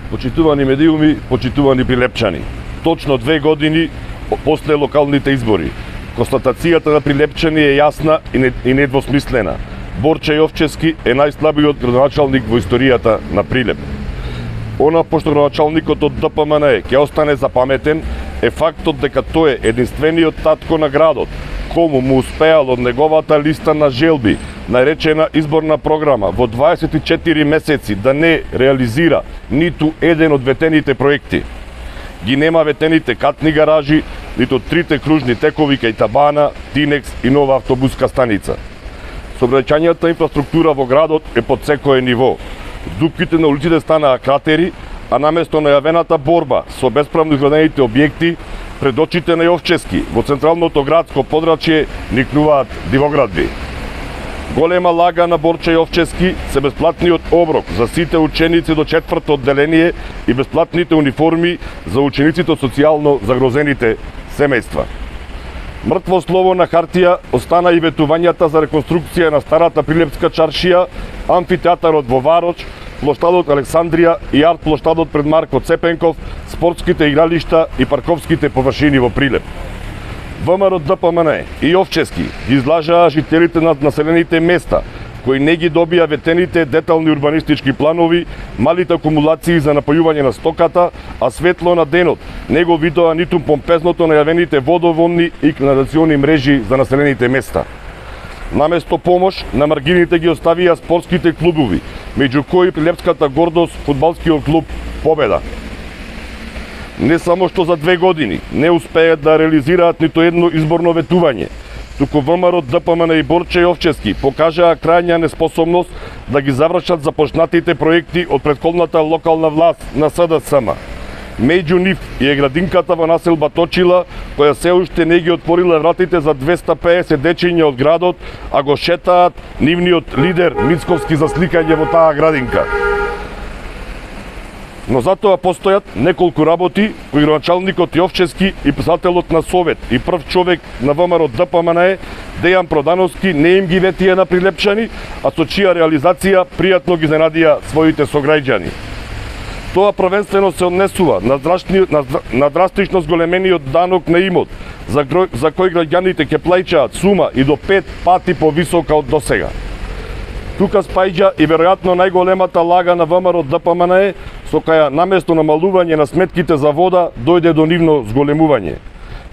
Почитувани медиуми, почитувани прилепчани. Точно 2 години после локалните избори. Констатацијата на прилепчани е јасна и недвосмислена. Борче Јовчевски е најслабиот градоначалник во историјата на Прилеп. Она пошто градоначалникот од ДПМН ќе остане запаметен е фактот дека тој е единствениот татко на градот, кому му успеал од неговата листа на желби, наречена изборна програма, во 24 месеци да не реализира ниту еден од ветените проекти. Ги нема ветените катни гаражи, ниту 3 кружни текови кај Табана, Тинекс и нова автобуска станица. Сообраќајната инфраструктура во градот е под секое ниво. Дупките на улиците станаа кратери, а наместо најавената борба со бесправно изградените објекти, пред очите на Јовчевски во централното градско подрачје никнуваат дивоградби. Голема лага на Борче Јовчевски се бесплатниот оброк за сите ученици до 4-то одделение и бесплатните униформи за учениците од социјално загрозените семејства. Мртво слово на хартија остана и ветувањата за реконструкција на старата Прилепска чаршија, амфитеатарот во Вароч, плоштадот Александрија и арт плоштадот пред Марко Цепенков, спортските игралишта и парковските површини во Прилеп. ВМРО ДПМН и Јовчевски ги излажаа жителите на населените места, кои не ги добија ветените детални урбанистички планови, малите акумулации за напојување на стоката, а светло на денот не го видоа ниту помпезното најавените водоводни и канализациони мрежи за населените места. Наместо помош, на маргините ги оставија спортските клубови, меѓу кои прилепската гордост фудбалскиот клуб Победа. Не само што за 2 години не успеат да реализираат ниту едно изборно ветување, туку ВМРО ДПМН и Борче Јовчевски покажаа крајна неспособност да ги завршат започнатите проекти од претходната локална власт на СДСМ. Меѓу нив е градинката во населба Точила, која се уште не ги отворила вратите за 250 дечиња од градот, а го шетаат нивниот лидер Мицковски за сликање во таа градинка. Но затоа постојат неколку работи кои градоначалникот Јовчевски и писателот на Совет и прв човек на ВМРО ДПМН Дејан Продановски не им ги ветија на прилепчани, а со чија реализација пријатно ги изненадија своите сограѓани. Тоа првенствено се однесува на драстично зголемениот данок на имот, за кој граѓаните ќе плаќаат сума и до 5 пати повисока од досега. Тука спаѓа и веројатно најголемата лага на ВМРО ДПМН, со каја наместо намалување на сметките за вода дојде до нивно зголемување.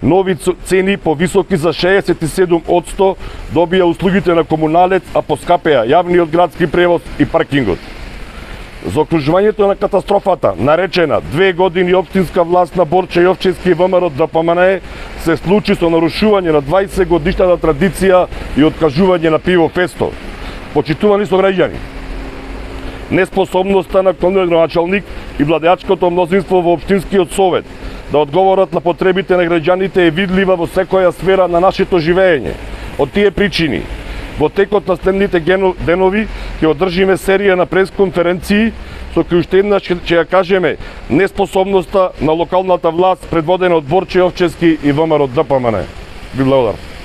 Нови цени повисоки за 67% добија услугите на комуналец, а поскапеа јавниот градски превоз и паркингот. За окружувањето на катастрофата, наречена 2 години општинска власт на Борче Јовчевски и ВМРО ДПМН, се случи со нарушување на 20 годишната традиција и откажување на пиво фесто. Почитувани сограѓани, неспособноста на актуелниот градоначалник и владеачкото мнозинство во општинскиот совет да одговорат на потребите на граѓаните е видлива во секоја сфера на нашето живење. Од тие причини, во текот на следните денови ќе одржиме серија на пресконференции со кои уште еднаш ќе ја кажеме неспособноста на локалната власт предводена од Борче Јовчевски и ВМРО ДПМН. Ви благодарам.